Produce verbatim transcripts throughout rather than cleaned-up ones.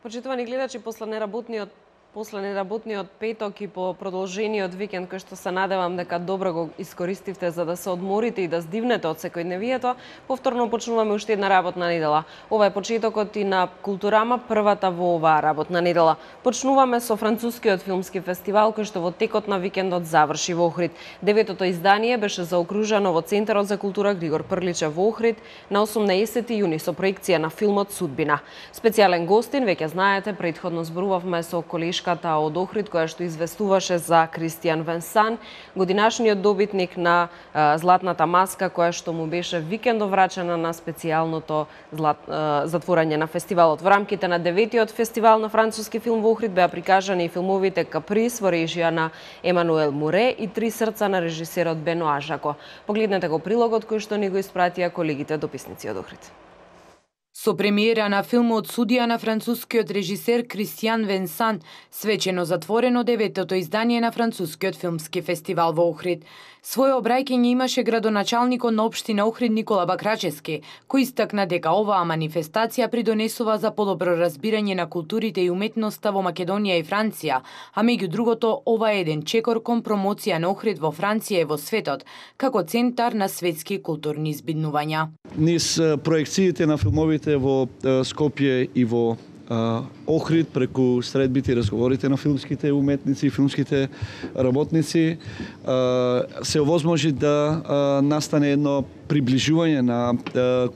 Почитувани гледачи, после неработниот После неработниот петок и по продолжениот викенд, кој што се надевам дека добро го искористивте за да се одморите и да здивнете од секојдневието, повторно почнуваме уште една работна недела. Ова е почетокот и на Културама, првата во оваа работна недела. Почнуваме со францускиот филмски фестивал, кој што во текот на викендот заврши во Охрид. Деветото издание беше заокружено во Центарот за култура Григор Прличев во Охрид на осумнаесети јуни со проекција на филмот Судбина. Специјален гостин, веќе знаете, претходно зборувавме со колешката од Охрид, која што известуваше за Кристијан Венсан, годинашниот добитник на а, Златната маска, која што му беше викендов врачена на специјалното злат, а, затворање на фестивалот. Во рамките на деветиот фестивал на француски филм во Охрид беа прикажани и филмовите Каприз во режија на Емануел Муре и Три срца на режисерот Беноа Жако. Погледнете го прилогот кој што ни го испратија колегите дописници од Охрид. Со премиера на филмот Судија на францускиот режисер Кристијан Венсан, свечено затворено деветото издание на францускиот филмски фестивал во Охрид. Своје обраќање имаше градоначалникот на општина Охрид Никола Бакрачевски, кој истакна дека оваа манифестација придонесува за подобро разбирање на културите и уметноста во Македонија и Франција, а меѓу другото ова е еден чекор кон промоција на Охрид во Франција и во светот, како центар на светски културни избиднувања. Низ проекциите на филмовите во Скопје и во Охрид, преку средбите и разговорите на филмските уметници и филмските работници, се овозможи да настане едно приближување на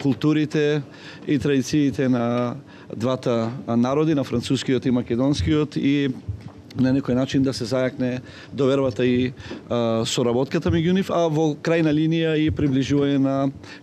културите и традициите на двата народи, на францускиот и македонскиот, и на некој начин да се зајакне довербата и а, соработката меѓу нив, а во крајна линија и приближување на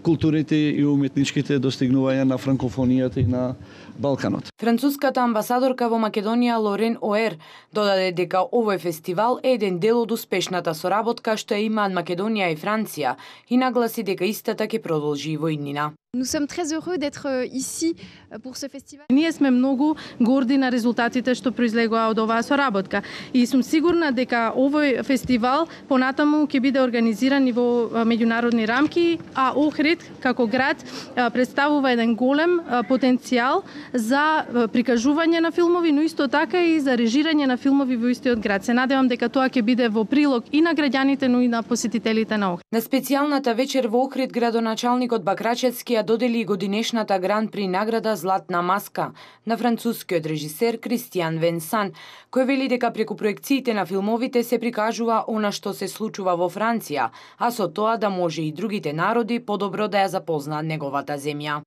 културните и уметничките достигнувања на франкофонијата и на Балканот. Француската амбасадорка во Македонија Лорен Оер додаде дека овој фестивал е еден дел од успешната соработка што имаат Македонија и Франција и нагласи дека истата ќе продолжи и во иднина. Nous sommes très heureux d'être ici pour ce festival. Ние сме многу горди на резултатите што произлегоа од оваа соработка и сум сигурна дека овој фестивал понатаму ќе биде организиран и во меѓународни рамки, а Охрид како град представува еден голем потенцијал за прикажување на филмови, но исто така и за режирање на филмови во истиот град. Се надевам дека тоа ќе биде во прилог и на граѓаните, но и на посетителите на Охрид. На специјалната вечер во Охрид градоначалникот Бакрачевски додели годинешната Гран при награда Златна маска на францускиот режисер Кристијан Венсан, кој вели дека преку проекциите на филмовите се прикажува она што се случува во Франција, а со тоа да може и другите народи подобро да ја запознаат неговата земја.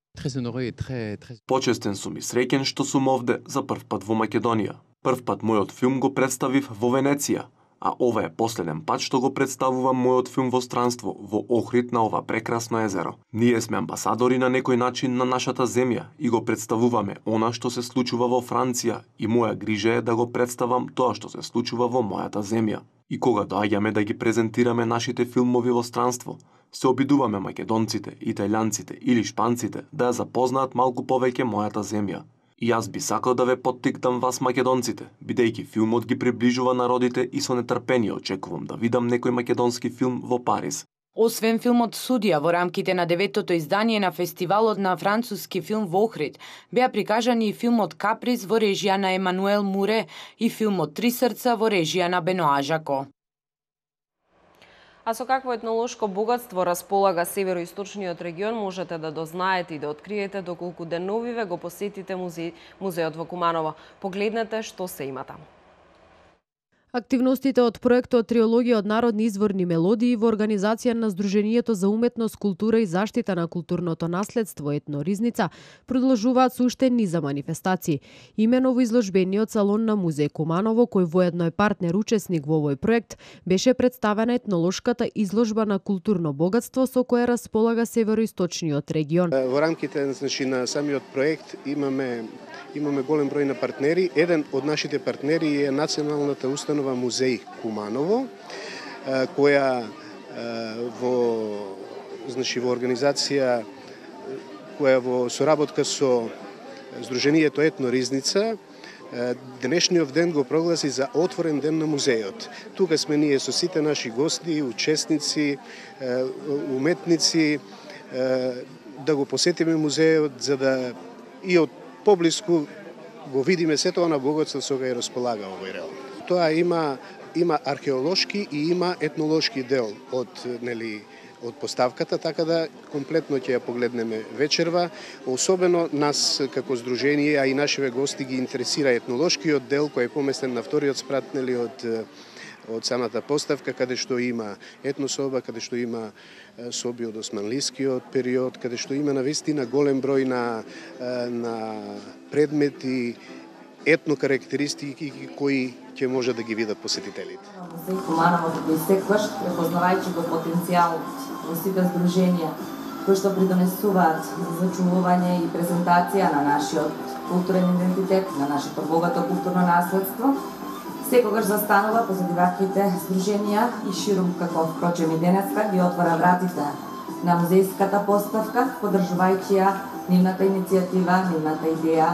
Почестен сум и среќен што сум овде за прв пат во Македонија. Прв пат мојот филм го представив во Венеција, а ова е последен пат што го представувам мојот филм во странство, во Охрид на ова прекрасно езеро. Ние сме амбасадори на некој начин на нашата земја и го представуваме она што се случува во Франција и моја грижа е да го представам тоа што се случува во мојата земја. И кога доаѓаме да ги презентираме нашите филмови во странство, се обидуваме македонците, италијанците или шпанците да ја запознаат малку повеќе мојата земја. И јас би сакал да ве поттикнам вас македонците, бидејќи филмот ги приближува народите и со нетрпение очекувам да видам некој македонски филм во Париз. Освен филмот Судија во рамките на деветото издание на фестивалот на француски филм во Охрид, беа прикажани и филмот Каприз во режија на Емануел Муре и филмот Три срца во режија на Беноа Жако. А со какво етнолошко богатство располага североисточниот регион можете да дознаете и да откриете доколку деновиве го посетите музеј, музејот во Куманово. Погледнете што се има таму. Активностите од проектот Триологија од народни изворни мелодии во организација на Сдруженијето за уметност, култура и заштита на културното наследство Етно Ризница продолжуваат со уште низа манифестации. Имено во изложбениот салон на музеј Куманово, кој воедно е партнер учесник во овој проект, беше представена етнолошката изложба на културно богатство со кое располага североисточниот регион. Во рамките, значи, на самиот проект имаме имаме голем број на партнери. Еден од нашите партнери е Националната установа Музеј Куманово, која во значи во организација која во соработка со Сдруженијето Етно Ризница денешниот ден го прогласи за отворен ден на музејот. Тука сме ние со сите наши гости, учесници, уметници, да го посетиме музејот за да и од поблиску го видиме сето она богатство со кој располага овој район. Тоа има има археолошки и има етнолошки дел од нели од поставката, така да комплетно ќе ја погледнеме вечерва. Особено нас како здружение, а и нашиве гости ги интересира етнолошкиот дел кој е поместен на вториот спрат нели од од самата поставка, каде што има етнособа, каде што има соби од османлискиот период, каде што има навистина голем број на на предмети, етно карактеристики кои ќе може да ги видат посетителите. Музеј Куманово го секогаш, препознавајќи го потенцијалот во сите здруженија кои што придонесуваат за зачувување и презентација на нашиот културен идентитет, на нашето богато културно наследство, секогаш застанува позади ваквите здруженија и ширум, како впрочем и денеска, ги отвора вратите на музејската поставка, поддржувајќи ја нивната иницијатива, нивната идеја,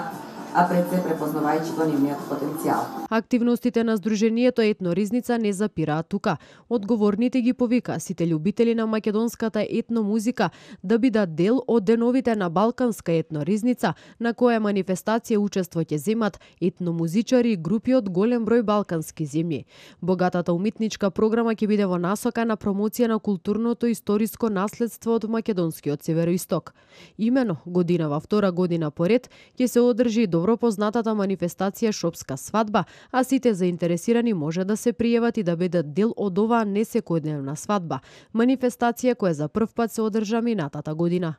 а пред се препознавајќи го нивниот потенцијал. Активностите на Сдруженијето Етноризница не запираат тука. Одговорните ги повика сите љубители на македонската етномузика да бидат дел од деновите на Балканска етноризница, на која манифестација учество ќе земат етномузичари и групи од голем број балкански земји. Богатата уметничка програма ќе биде во насока на промоција на културното и историско наследство од македонскиот североисток. Имено годинава втора година поред ќе се одржи добро познатата манифестација Шопска свадба, а сите заинтересирани може да се пријават и да бидат дел од оваа несекојдневна свадба, манифестација која за прв пат се одржа минатата година.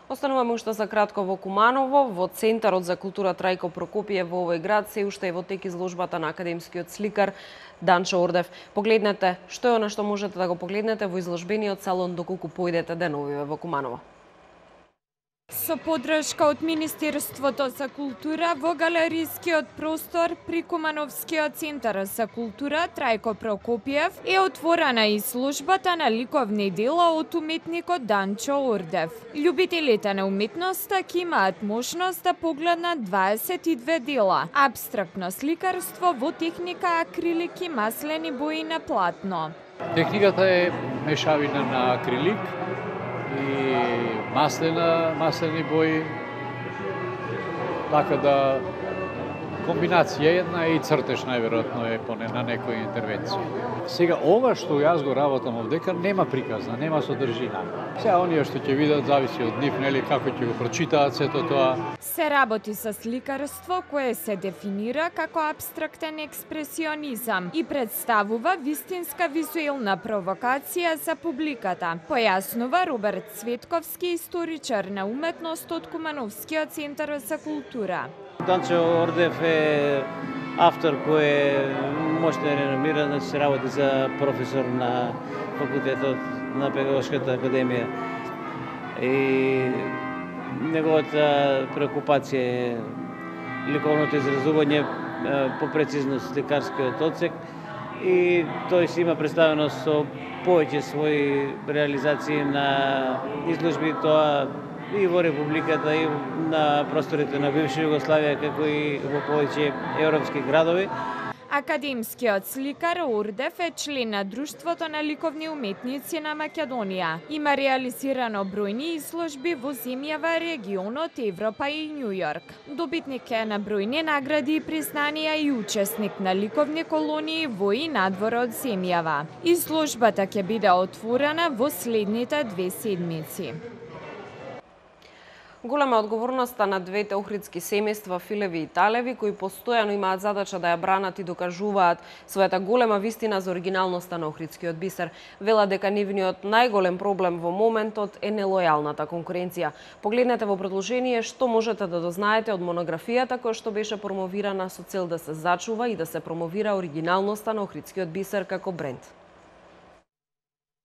Остануваме уште за кратко во Куманово, во Центарот за култура Трајко Прокопиев во овој град се уште е во тек изложбата на академскиот сликар Данчо Ордев. Погледнете што е она што можете да го погледнете во изложбениот салон доколку појдете деновиве во Куманово. Со поддршка од Министерството за култура во галерискиот простор при Кумановскиот центар за култура Трајко Прокопиев е отворена изложбата на ликовни дела од уметникот Данчо Ордев. Љубителите на уметноста ќе имаат можност да погледнат дваесет и две дела. Абстрактно сликарство во техника акрилик и маслени бои на платно. Техниката е мешавина на акрилик и маслена, маслени бои, така да комбинација една и цртеж најверојатно е поне на некоја интервенција. Сега ова што јас го работам овдека нема приказна, нема содржина. Сега оние што ќе видат зависи од нив, нели како ќе го прочитаат сето тоа. Се работи со сликарство кое се дефинира како абстрактен експресионизам и представува вистинска визуелна провокација за публиката, појаснува Роберт Цветковски, историчар на уметност од Кумановскиот центар за култура. Данчо Ордев е автор кој е мощно реномиран, значи се работи за професор на факултетот на Педагошката академија. И неговата преокупација е ликовното изразување по прецизност сликарскиот одсек и тој си има представено со повеќе своји реализации на изложби, тоа и во Републиката, и на просторите на бивша Југославија, како и во повеќе европски градови. Академскиот сликар Ордев е член на Друштвото на ликовни уметници на Македонија. Има реализирано бројни изложби во земјава, регионот, Европа и Њујорк. Добитник е на бројни награди и признанија и учесник на ликовни колонии во и надвор од земјава. Изложбата ќе биде отворена во следните две седмици. Голема одговорноста на двете охридски семејства Филеви и Талеви, кои постојано имаат задача да ја бранат и докажуваат својата голема вистина за оригиналноста на охридскиот бисер. Вела дека нивниот најголем проблем во моментот е нелојалната конкуренција. Погледнете во предложение што можете да дознаете од монографијата која што беше промовирана со цел да се зачува и да се промовира оригиналноста на охридскиот бисер како бренд.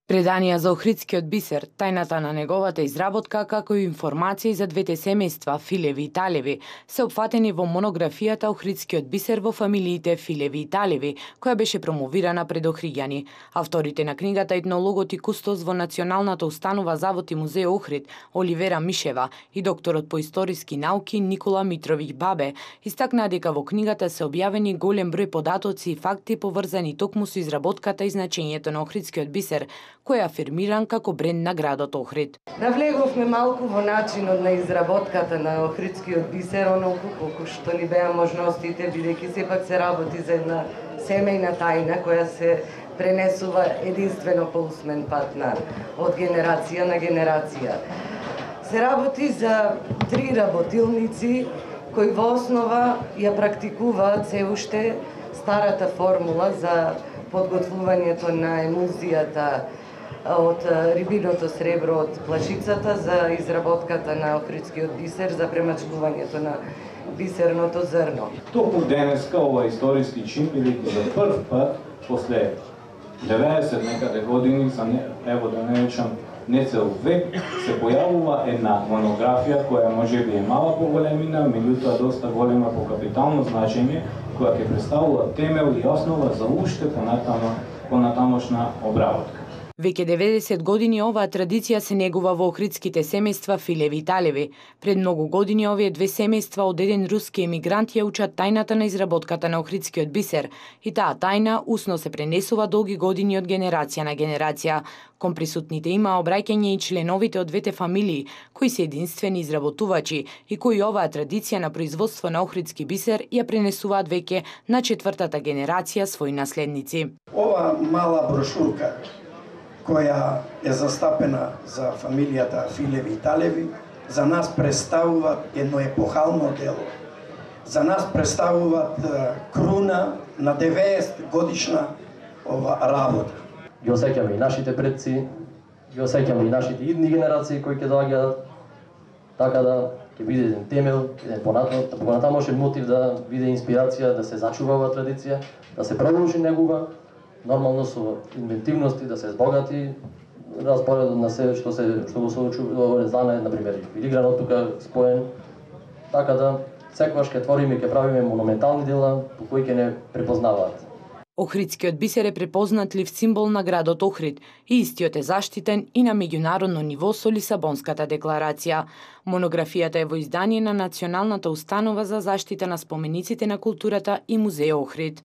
Преданија за охридскиот бисер, тајната на неговата изработка, како и информации за двете семејства Филеви и Талеви, се опфатени во монографијата Охридскиот бисер во фамилиите Филеви и Талеви, која беше промовирана пред охриѓани. Авторите на книгата, етнологот и кустос во Националната установа Завод и музеј Охрид, Оливера Мишева и докторот по историски науки Никола Митровиќ Бабе, истакнаа дека во книгата се објавени голем број податоци и факти поврзани токму со изработката и значењето на охридскиот бисер, кој е афирмиран како бренд на градот Охрид. Навлеговме малку во начинот на изработката на охридскиот бисер, онолку колку што ни беа можностите, бидејќи сепак се работи за една семејна тајна која се пренесува единствено по усмен пат на од генерација на генерација. Се работи за три работилници кои во основа ја практикуваат се уште старата формула за подготвувањето на емулзијата од рибиното сребро од плачицата за изработката на охридскиот бисер за премачкувањето на бисерното зрно. Токму денеска ова историски чин, бидејќи за прв пат после деветдесет некаде години, за не, ево да не речам не цел век, се појавува една монографија која можеби е мала по големина, меѓутоа доста голема по капитално значење, која ќе представува темел и основа за уште понатамо, понатамошна обработка. Веќе деветдесет години оваа традиција се негува во охридските семејства Филеви и Талеви. Пред многу години овие две семејства од еден руски емигрант ја учат тајната на изработката на охридскиот бисер и таа тајна усно се пренесува долги години од генерација на генерација. Кон присутните има обраќање и членовите од двете фамилии, кои се единствени изработувачи и кои оваа традиција на производство на охридски бисер ја пренесуваат веќе на четвртата генерација своји наследници. Ова мала брошурка која е застапена за фамилијата Филеви и Талеви, за нас представуваат едно епохално дело. За нас представуваат круна на деветдесет годишна ова работа. Ги осеќаме и нашите предци, ги осеќаме и нашите идни генерации кои ќе доаѓаат, така да ќе биде еден темел, еден понатамошен мотив да биде инспирација да се зачува оваа традиција, да се продолжи негува, нормално со инвентивности, да се збогати распоредот на се што се што го соочува знае, на пример, филигранот тука споен, така да секогаш ќе твориме и ќе правиме монументални дела по кои ќе не препознаваат. Охридскиот бисер е препознатлив символ на градот Охрид и истиот е заштитен и на меѓународно ниво со Лисабонската декларација. Монографијата е во издание на Националната установа за заштита на спомениците на културата и Музеј Охрид.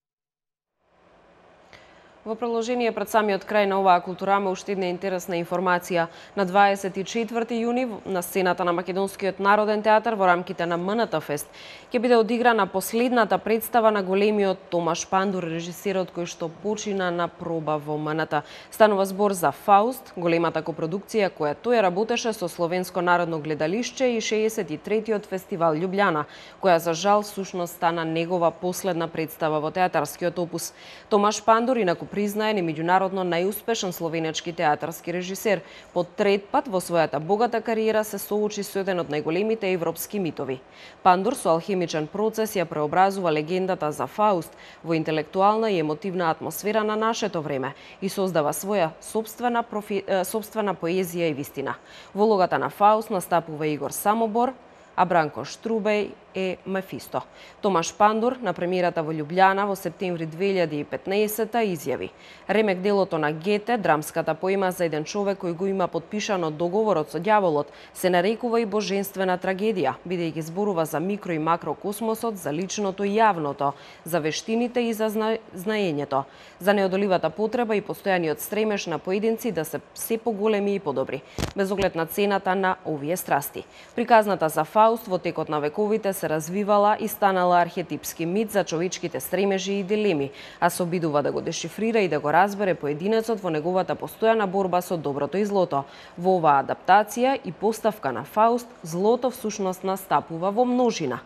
Во продолжение пред самиот крај на оваа културама уште една интересна информација. На дваесет и четврти јуни на сцената на Македонскиот народен театар во рамките на М Н Т Фест ќе биде одиграна последната представа на големиот Томаш Пандур, режисерот кој што почина на проба во М Н Т. Станува збор за Фауст, големата копродукција која тој работеше со Словенско народно гледалишче и шеесет и третиот фестивал Љубљана, која за жал сушност стана негова последна представа во театарскиот опус. Томаш Пандур инаку признаен и меѓународно најуспешен словенечки театарски режисер. По трет пат во својата богата кариера се соочи со еден од најголемите европски митови. Пандур со алхемичен процес ја преобразува легендата за Фауст во интелектуална и емотивна атмосфера на нашето време и создава своја собствена, профи... собствена поезија и вистина. Во улогата на Фауст настапува Игор Самобор, а Бранко Штрубеј е Мефисто. Томаш Пандур на премиерата во Љубљана во септември две илјади и петнаесетта изјави: ремек делото на Гете, драмската поема за еден човек кој го има подпишано договорот со ѓаволот, се нарекува и божествена трагедија, бидејќи зборува за микро и макрокосмосот, за личното и јавното, за вештините и за зна... знаењето, за неодоливата потреба и постојаниот стремеж на поединци да се се поголеми и подобри, без оглед на цената на овие страсти. Приказната за Фауст во текот на вековите се развивала и станала архетипски мит за човечките стремежи и дилеми, а се обидува да го дешифрира и да го разбере поединецот во неговата постојана борба со доброто и злото. Во оваа адаптација и поставка на Фауст, злото всушност настапува во множина.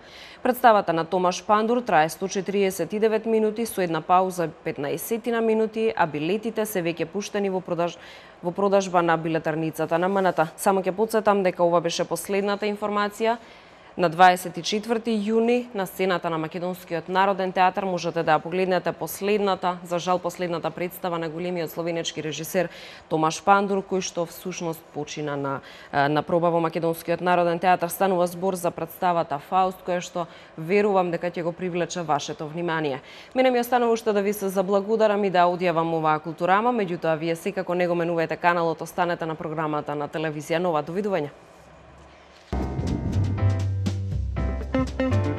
Представата на Томаш Пандур трае сто четириесет и девет минути со една пауза петнаесет минути, а билетите се веќе пуштени во продаж во продажба на билетарницата на М Н Т. Само ќе потсетам дека ова беше последната информација. На дваесет и четврти јуни на сцената на Македонскиот народен театар можете да ја погледнете последната, за жал последната представа на големиот словенечки режисер Томаш Пандур, кој што всушност почина на на проба во Македонскиот народен театар. Станува збор за представата Фауст, која што верувам дека ќе го привлече вашето внимание. Мене ми останува уште да ви се заблагодарам и да одјавам оваа културама, меѓутоа вие секако не го менувајте каналот, останете на програмата на телевизија Нова. Довидување. Thank you.